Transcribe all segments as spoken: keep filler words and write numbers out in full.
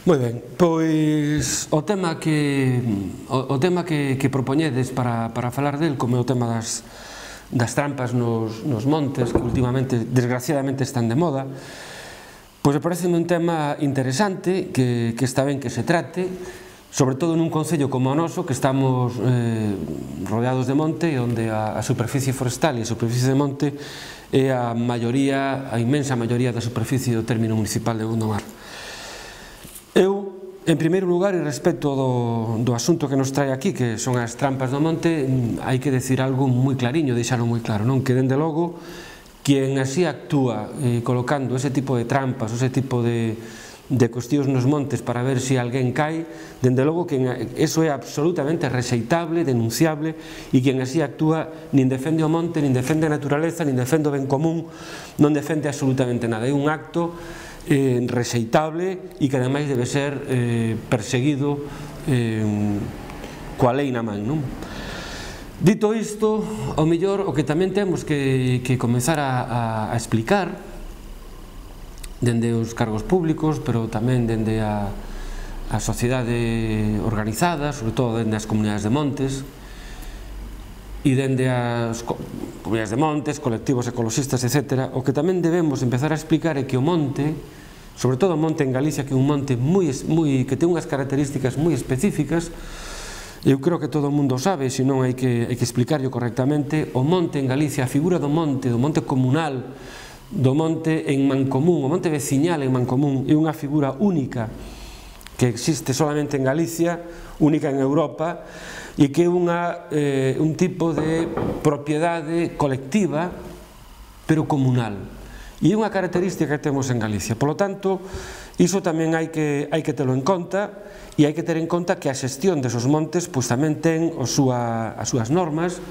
Moi ben, pois o tema que o, o tema que, que propoñedes para, para falar del, como é o tema das, das trampas nos, nos montes, que últimamente, desgraciadamente, están de moda, pois me parece un tema interesante, que, que está ben que se trate, sobre todo nun concello como o noso, que estamos eh, rodeados de monte, onde a, a superficie forestal e a superficie de monte é a maioría, a inmensa maioría da superficie do término municipal de Gondomar. Eu, en primeiro lugar, e respecto do, do asunto que nos trae aquí, que son as trampas do monte, hai que decir algo moi clariño, deixalo moi claro, non? Que, dende logo, quien así actúa eh, colocando ese tipo de trampas, ese tipo de, de cuestións nos montes para ver se alguén cae, dende logo que eso é absolutamente rexeitable, denunciable, e quien así actúa nin defende o monte, nin defende a naturaleza, nin defende o ben común, non defende absolutamente nada. É un acto Eh, rexeitable e que ademais debe ser eh, perseguido eh, coa lei na man, non? Dito isto, ao mellor o que tamén temos que, que comezar a, a, a explicar dende os cargos públicos, pero tamén dende a, a sociedade organizada, sobre todo dende as comunidades de montes e dende as comunidades de montes, colectivos ecologistas, etcétera, o que tamén debemos empezar a explicar é que o monte, sobre todo o monte en Galicia, que é un monte moi, moi, que ten unhas características moi específicas, eu creo que todo o mundo sabe, se non hai que, hai que explicarlo correctamente, o monte en Galicia, a figura do monte, do monte comunal, do monte en mancomún, o monte veciñal en mancomún, é unha figura única que existe solamente en Galicia, única en Europa, e que é unha, eh, un tipo de propiedade colectiva, pero comunal. E é unha característica que temos en Galicia. Por lo tanto, iso tamén hai que, hai que telo en conta, e hai que ter en conta que a xestión desos montes pois tamén ten o súa, as súas normas,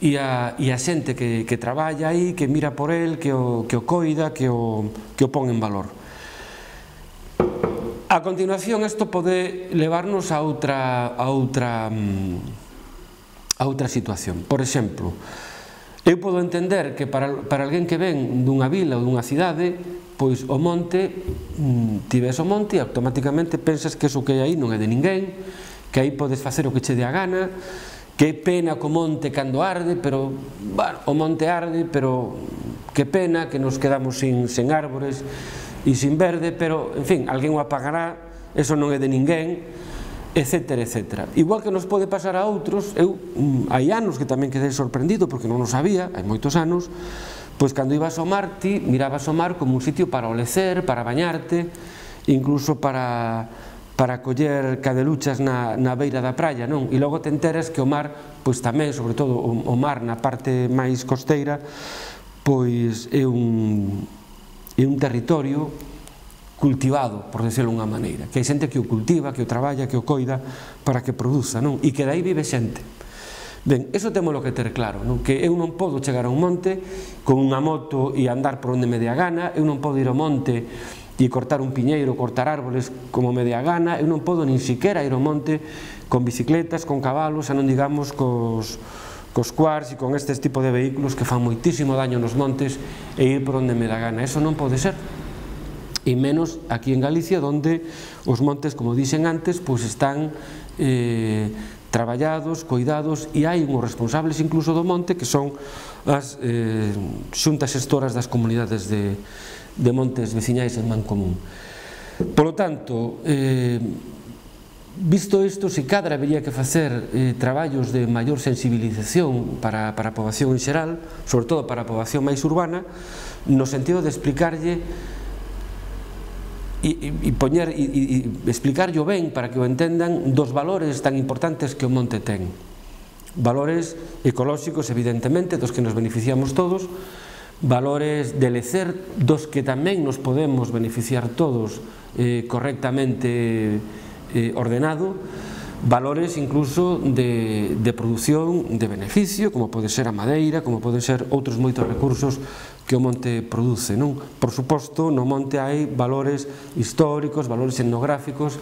e a, e a xente que, que traballa aí, que mira por el, que o, que o coida, que o, que o pon en valor. A continuación, isto pode levarnos a outra, a outra, a outra situación. Por exemplo, eu podo entender que para, para alguén que ven dunha vila ou dunha cidade, pois o monte, ti ves o monte e automáticamente pensas que eso que hai aí non é de ninguén, que aí podes facer o que che dé a gana, que pena co monte cando arde, pero, bueno, o monte arde, pero que pena que nos quedamos sin, sin árbores e sin verde, pero, en fin, alguén o apagará, eso non é de ninguén, etcétera, etcétera. Igual que nos pode pasar a outros, eu, hai anos que tamén quedei sorprendido, porque non o sabía, hai moitos anos, pois cando ibas ao mar, ti mirabas o mar como un sitio para olecer, para bañarte, incluso para, para coller cadeluchas na, na beira da praia, non? E logo te enteras que o mar, pois tamén, sobre todo o, o mar na parte máis costeira, pois é un... é un territorio cultivado, por decirlo de unha maneira, que hai xente que o cultiva, que o traballa, que o coida para que produza, non? E que dai vive xente. Ben, iso témolo que ter claro, non? Que eu non podo chegar a un monte con unha moto e andar por onde me dé a gana, eu non podo ir ao monte e cortar un piñeiro, cortar árboles como me dé a gana, eu non podo nin siquiera ir ao monte con bicicletas, con cabalos, xa non digamos cos... cos quars e con estes tipos de vehículos que fan moitísimo daño nos montes e ir por onde me dá gana. Eso non pode ser. E menos aquí en Galicia, onde os montes, como dixen antes, pois están eh, traballados, coidados, e hai uns responsables incluso do monte que son as eh, xuntas xestoras das comunidades de, de montes veciñais en mancomún. Por lo tanto, eh, visto isto, se cadra habería que facer eh, traballos de maior sensibilización para, para a poboación en xeral, sobre todo para a poboación máis urbana, no sentido de explicarlle e, e, e poñer e, e explicarlle ben para que o entendan dos valores tan importantes que o monte ten. Valores ecolóxicos, evidentemente, dos que nos beneficiamos todos, valores de lecer dos que tamén nos podemos beneficiar todos eh, correctamente Eh, ordenado, valores incluso de, de produción de beneficio, como pode ser a madeira, como poden ser outros moitos recursos que o monte produce, non? Por suposto, no monte hai valores históricos, valores etnográficos,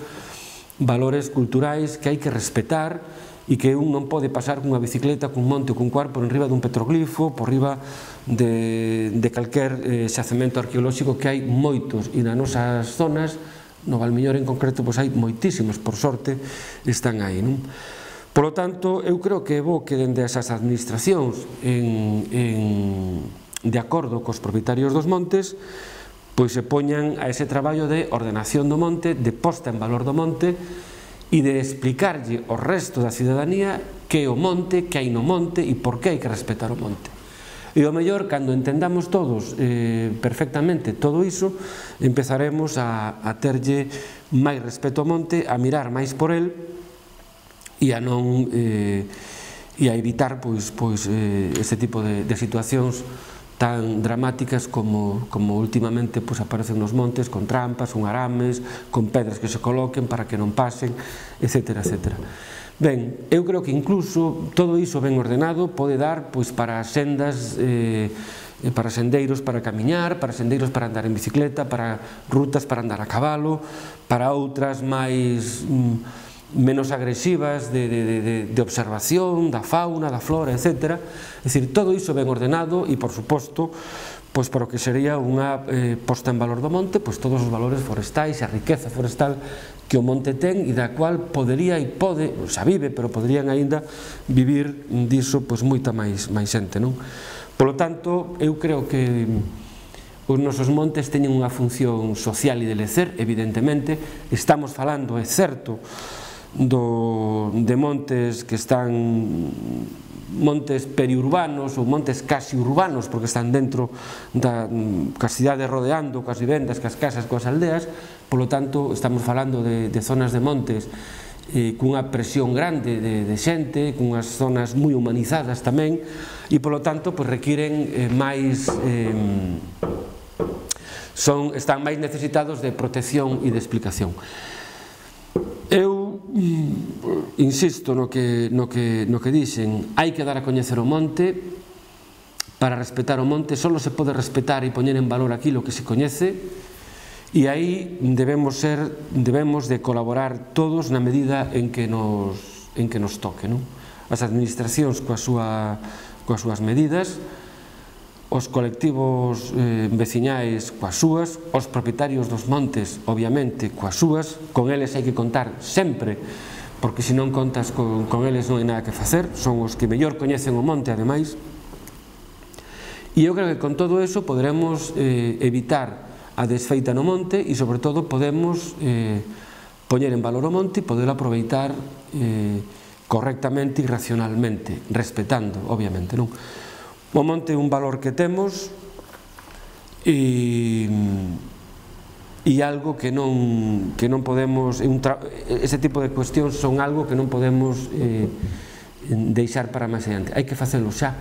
valores culturais que hai que respetar e que un non pode pasar cunha bicicleta, cun monte ou cun cuar por enriba dun petroglifo, por riba de, de calquer eh, xacemento arqueolóxico, que hai moitos, e nas nosas zonas no Valmiñor en concreto pois hai moitísimas, por sorte están aí, non? Polo tanto, eu creo que é bo que dende esas administracións en, en, de acordo cos propietarios dos montes pois se poñan a ese traballo de ordenación do monte, de posta en valor do monte e de explicarlle ao resto da cidadanía que é o monte, que hai no monte e por que hai que respetar o monte. E ao mellor, cando entendamos todos eh, perfectamente todo iso, empezaremos a, a terlle máis respeto ao monte, a mirar máis por el e a non eh, e a evitar pois, pois, eh, ese tipo de, de situacións tan dramáticas como, como últimamente pois, aparecen nos montes, con trampas, con arames, con pedras que se coloquen para que non pasen, etcétera, etcétera. Ben, eu creo que incluso todo iso ben ordenado pode dar pois, para sendas, eh, para sendeiros para camiñar, para sendeiros para andar en bicicleta, para rutas para andar a cabalo, para outras máis mm, menos agresivas de, de, de, de observación da fauna, da flora, etcétera. É dicir, todo iso ben ordenado e, por suposto, pois para o que sería unha eh, posta en valor do monte, pois todos os valores forestais e a riqueza forestal que o monte ten e da cual podería e pode, xa vive, pero poderían aínda vivir diso pois moita máis, máis xente, non? Polo tanto, eu creo que os nosos montes teñen unha función social e de lecer, evidentemente, estamos falando, é certo, do, de montes que están montes periurbanos ou montes casi urbanos porque están dentro da cidade rodeando coas vivendas, coas casas, coas aldeas, polo tanto estamos falando de, de zonas de montes eh, cunha presión grande de, de xente, cunhas zonas moi humanizadas tamén e polo tanto pues, requiren eh, máis eh, son, están máis necesitados de protección e de explicación. Eu insisto no que, no que, no que dixen, hai que dar a coñecer o monte. Para respetar o monte só se pode respetar e poñer en valor aquilo que se coñece e aí debemos ser, debemos de colaborar todos na medida en que nos, en que nos toque, non? As administracións coas, súa, coas súas medidas, os colectivos eh, veciñais coas súas, os propietarios dos montes, obviamente, coas súas, con eles hai que contar sempre, porque se non contas con, con eles non hai nada que facer, son os que mellor coñecen o monte, ademais, e eu creo que con todo eso poderemos eh, evitar a desfeita no monte e, sobre todo, podemos eh, poñer en valor o monte e poder aproveitar eh, correctamente e racionalmente, respetando, obviamente, non? O monte é un valor que temos e, e algo que non, que non podemos, un tra, ese tipo de cuestións son algo que non podemos eh, deixar para máis adiante, hai que facelo xa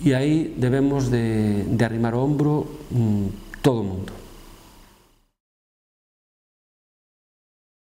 e aí debemos de, de arrimar o ombro mm, todo o mundo.